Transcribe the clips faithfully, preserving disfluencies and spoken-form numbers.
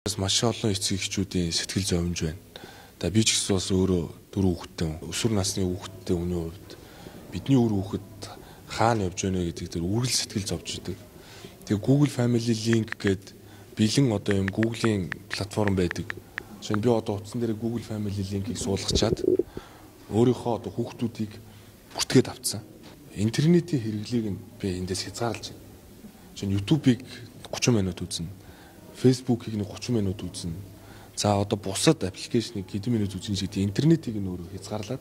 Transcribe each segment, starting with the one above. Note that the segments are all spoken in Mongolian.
Маш олон эцэг эхчүүдийн сэтгэл зовж байна. За би ч гэсэн бас өөрөө дөрөв хүүхэдтэй, өсвөр насны хүүхэдтэй хүний хувьд бидний өр хүүхэд хаана явж байна вэ гэдэг дээр үргэлж сэтгэл зовж идэг. Тэгээ Google Family Link гэдэг бэлэн одоо юм Google-ийн платформ байдаг. Жишээ нь би одоо утсан дээр Google Family Link-ийг суулгачаад өөрийнхөө одоо хүүхдүүдийг бүртгээд авцсан. Интернетийн хэрэглээг нь би эндээс хязгаарлаж байна. Жишээ нь YouTube-ыг гурван минут үзнэ. Facebook-ийг нэг гурван минут үзнэ. За одоо бусад аппликейшнийг хэдэн минут үзнэ гэдэг интернетийг нь өөрөө хязгаарлаад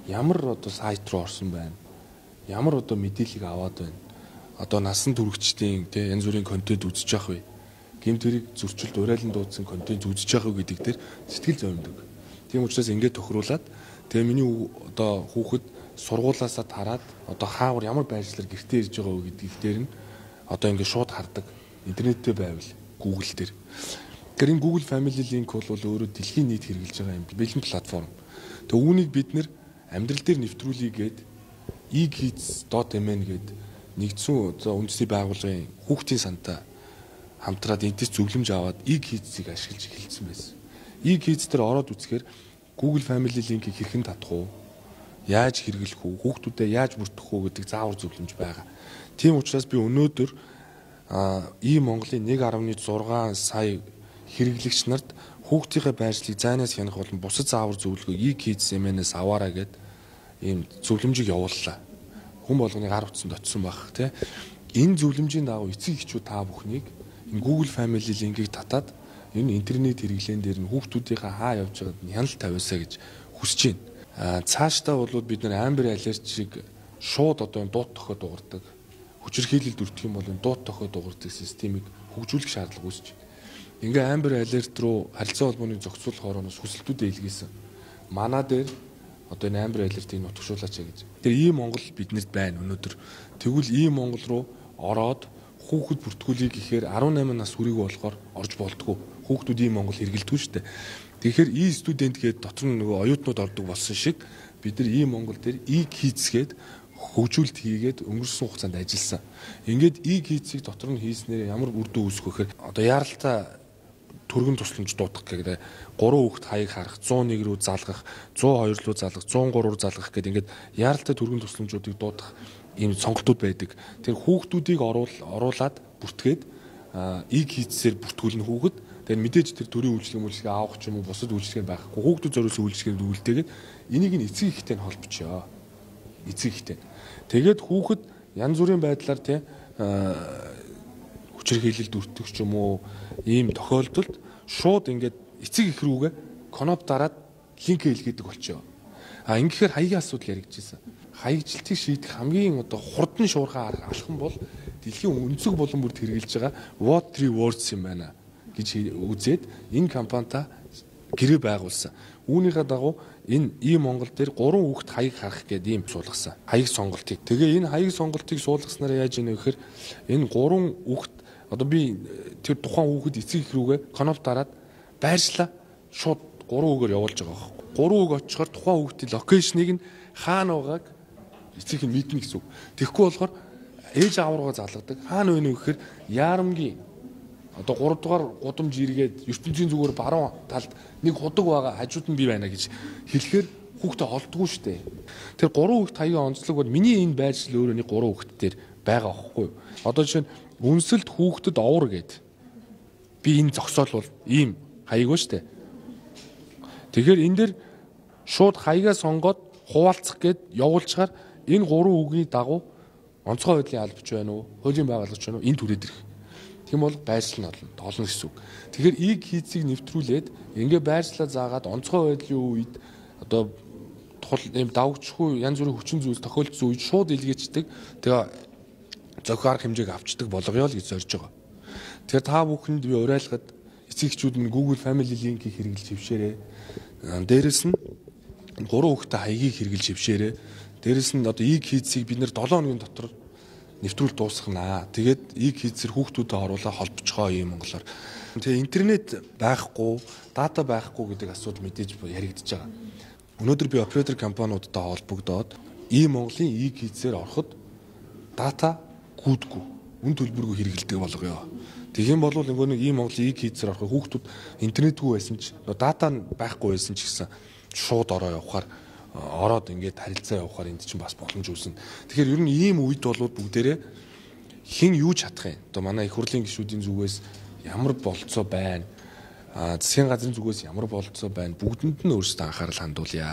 ямар одоо сайт руу орсон байна. Ямар одоо мэдээллийг аваад байна. Одоо насан туршидтын тий янз бүрийн контент үзэж явах вэ. Гэмт хэрэг зөрчилд урайлан дуудсан контент үзэж явах гэдэг дээр сэтгэл зовмдог. Тийм учраас ингээд тохируулаад тэгээ миний одоо хүүхэд сургуулаасаа тараад одоо хаавар ямар байршлаар гэртээ ирж байгаа вэ гэдэг дээр нь одоо ингээд шууд хардаг. Интернеттэй байвал Google дээр. Тэгэхээр энэ Google Family Link бол өөрөө дэлхийн нийт хэрэгжилж байгаа юм бэлэн платформ. Тэгээ үүнийг бид нэр амьдрал дээр нэвтрүүлэгээд e-kids dot m n гэдэг нэгдсэн за үндэсний байгууллагын хүүхдийн сантай хамтраад энэс зөвлөмж аваад e-kids-ийг ашиглаж эхэлсэн байсан. E-kids дээр ороод үзэхээр Google Family Link-ийг хэрхэн татах уу? Яаж хэрэглэх үү? Хүүхдүүдэд яаж бүртгэх үү гэдэг заавар зөвлөмж байгаа. Тийм учраас би өнөөдөр e-Монголын нэг дасалж зургаан сая хэрэглэгч нарт хүүхдийнхээ байршлыг зайнаас хянах болон бусад заавар зөвлөгөө e-kids M N-ээс аваарай гэд ийм зөвлөмжийг явууллаа. Хүн болгоны гар утсанд очсон байх тий. Энэ зөвлөмжийн дагуу эцэг эхчүүд та бүхнийг энэ Google Family Link-ийг татаад энэ интернет хэрэглэн дээр нь хүүхдүүдийнхээ хаа явж байгааг нь хяналт тавиасаа гэж хүсэж байна. Аа цаашдаа бол бид нар Amber Alert-ийг шууд одоо дуут тохиод дуурдаг. Хүчирхийлэлд өртөх юм бол дуут тохиод дуурдаг системийг хөгжүүлэх шаардлага үүсэж байна. Ингээ Amber Alert руу харилцаа холбооны зохицуулах орооноос хүсэлтүүдээ илгээсэн. Манай дээр одоо энэ Amber Alert-ийг нутгшуулаач гэж. Тэр e-Монгол биднэрт байна өнөөдөр. Тэгвэл e-Монгол руу ороод хүүхэд бүртгүүлийг гэхээр арван намын нас хүрээгүй болохоор орж болтгоо. Хүүхдүүд e-Монгол хэрэгэлдэг шүү дээ. Тэгэхээр e-студент гэдэг дотор нь нөгөө оюутнууд ордог болсон шиг бид нар e-Монгол дээр e-kids гэдэг хөгжүүлэлт хийгээд өнгөрсөн хугацаанд ажилласан. Ингээд e-kids-ийг дотор нь хийснээр ямар үр дүн үүсэх вэ гэхээр одоо яаралтай төргөн тусламж дуудах гэдэг гурван хүүхэд хаяг харах, зуун нэг рүү залгах, зуун хоёр руу залгах, зуун гурав руу залгах гэдэг ингээд яаралтай төргөн тусламжуудыг дуудах ийм сонголтууд байдаг. Тэр хүүхдүүдийг оруул оруулаад бүртгээд e-kids-ээр бүртгүүлнэ хүүхэд. Тэгэхээр мэдээж тэр төрийн үйлчлэг мүлчлэгээ авах ч юм уу бусад үйлчлэг байхгүй. Хүүхдүүд зориулсан үйлчлэгээр үлдээгээд энийг нь эцэг эхтэй нь холбочоо. Эцэг эхтэй. Тэгээд хүүхэд янз бүрийн байдлаар тий хүчирхийлэлд өртөх ч юм уу ийм тохиолдолд шууд ингээд эцэг эх рүүгээ коноп дараад линк хэлгээдэг болчоо. А ингэхээр хаягийн асуудал яригдчихсэн. Хаягжилтыг шийдэх хамгийн одоо хурдан шуурхай алхам бол дэлхийн өнцөг болон бүрд хэрэгжилж байгаа What Three Words юм байна гэж үзээд энэ компанита гэрээ байгуулсан. Үүнийхээ дагуу энэ e-Монгол дээр гурван хүүхэд хаяг харах гэдэг ийм суулгасан. Хаяг сонголтыг. Тэгээ энэ хаяг сонголтыг суулгаснараа яаж ийнэ гэхээр энэ гурван хүүхэд одоо би тэр тухайн хүүхэд эцэг их рүүгээ коноп дараад байршлаа шууд гурван үгээр явуулж байгаа байхгүй. Гурван үг очихоор тухайн хүүхдийн локейшнийг нь хаана байгааг эцэг нь мэднэ гэсэн үг. Тэгэхгүй болохоор ээж аав руугаа залгадаг. Хаана вэ нэ гэхээр Яарамгийн одоо гурав дугаар гудамж иргээд ертөнцийн зүгээр баруун талд нэг худаг байгаа хажууд нь би байна гэж хэлэхээр хүүхдээ холддгүй шүү дээ. Тэр гурван хүүхд хаягийн онцлог бол миний энэ байршил өөрөө нэг гурван хүүхд дээр байгаа байхгүй юу? Одоо жишээ нь үнсэлд хүүхдэд овор гээд би энэ зогсоол бол ийм хаяг ба шүү дээ. Тэгэхээр энэ дэр шууд хаягаа сонгоод хуваалцах гээд явуулчихаар энэ гурван үгийн дагуу онцгой байдлын албач байна уу? Хуулийн байгуулагч байна уу? Энэ түрээд ирэх. Тийм бол байршил нь олно гэсэн үг. Тэгэхээр e-kids-ийг нэвтрүүлээд ингээ байршлаа заагаад онцгой байдлын үед одоо ийм давгчгүй янз бүрийн хүчин зүйлс тохиолдсон үед шууд илгээчдэг. Тэгээ зохио арга хэмжээг авчдаг болгоё л гэж зорж байгаа. Тэгэхээр та бүхэнд би уриалгад эцэг эхчүүд нь Google Family Link-ийг хэрэглэж хөвшөөрэй. Дээрэс нь гурван хүүхэдтэй хаягийг хэрэглэж хөвшөөрэй. Дээрэс нь одоо e-kids-ийг бид нэр долоон хоногийн дотор нэвтрүүл дуусгана. Тэгээд e-kids-ээр хүүхдүүдэд оруулаа холбоцгоо юм монголоор. Тэгээ интернет байхгүй, дата байхгүй гэдэг асуудал мэдээж яригдчихэж байгаа. Өнөөдөр би оператор компаниудтай холбогдоод e-Монголын e-kids-ээр ороход дата гүйдэггүй, үн төлбөргүй хэрэгэлдэг болгоё. Тэгэх юм бол нөгөө нэг ийм Монголын ийг хийцээр авах хүүхдүүд интернетгүй байсан ч дата байхгүй байсан ч гэсэн шууд ороо явахаар ороод ингээд харилцаа явахаар энд чинь бас боломж үүснэ. Тэгэхээр ер нь ийм үед бол бүгдээрээ хэн юу чадах юм. Одоо манай их хурлын гишүүдийн зүгээс ямар болцоо байна. А засгийн газрын зүгээс ямар болцоо байна. Бүгдэнд нь өөрсдөө анхаарал хандуулъя.